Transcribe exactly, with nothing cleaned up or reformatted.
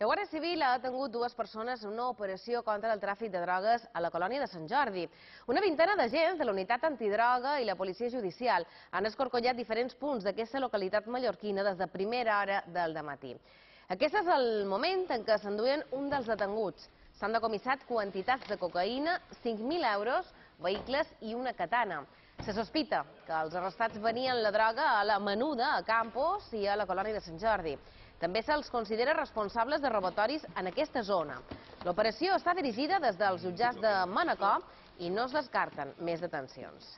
La Guàrdia Civil ha detingut dues persones en una operació contra el tràfic de drogues a la colònia de Sant Jordi. Una vintena d'agents de la unitat antidroga i la policia judicial han escorcollat diferents punts d'aquesta localitat mallorquina des de primera hora del dematí. Aquest és el moment en què s'enduien un dels detinguts. S'han decomissat quantitats de cocaïna, cinc mil euros, vehicles i una katana. Se sospita que els arrestats venien la droga a la Menuda, a Campos i a la colònia de Sant Jordi. També se'ls considera responsables de robatoris en aquesta zona. L'operació està dirigida des dels jutjats de Manacor i no es descarten més detencions.